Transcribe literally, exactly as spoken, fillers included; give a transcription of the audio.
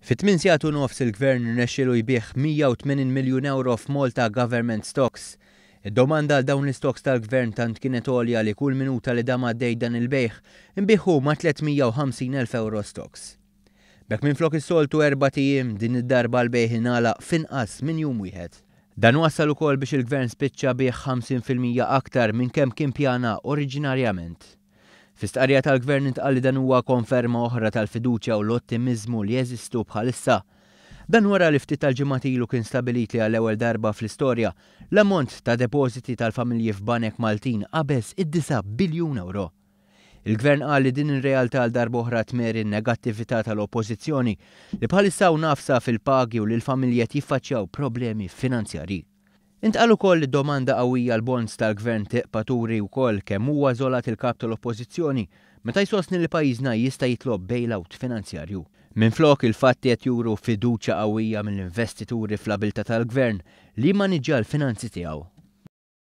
Fi tmien sigħat u nofs il-Gvern rnexxielu jbigħ mija u tmenin miljun euro f'Malta Government Stocks. Id-domanda għal dawn l-stocks tal-Gvern tant kienet għolja li kull minuta li dam għaddej dan il-bejgħ inbiegħu ma' tliet mija u ħamsin elf euro stocks. B'hekk, minflok is-soltu erbat ijiem, din id-darba l-bejgħ ingħalaq f'inqas minn jum wieħed. Dan wassal ukoll biex il-Gvern spiċċa biegħ ħamsin fil-mija aktar minn kemm kien pjana oriġinarjament. Fi stqarrija tal-Gvern intqal li dan huwa konferma oħra tal-fiduċja u l-ottimizmu li jeżistu bħalissa. Dan wara li ftit tal-ġimgħat ilu kien stabilit li għall-ewwel darba fl-istorja l-ammont ta' depożiti tal-familji f'banek Maltin qabeż id-disa' biljun euro. Il-Gvern qal li din ir-realtà għal darba oħra tmeri n-negattività tal-Oppożizzjoni li bħalissa nafsa fil-pagi u li l-familji qed jiffaċċjaw problemi finanzjarji. Intqal ukoll li domanda qawwija għall-bonds tal-Gvern tibqa' turi wkoll kemm huwa żolat il-kap tal-Oppożizzjoni meta jsostni li pajjiżna jista' jitlob bailout finanzjarju. Minflok, il-fatti qed juru fiduċja qawwija mill-investituri fl-abilità tal-Gvern li jimmaniġġja l-finanzi tiegħu.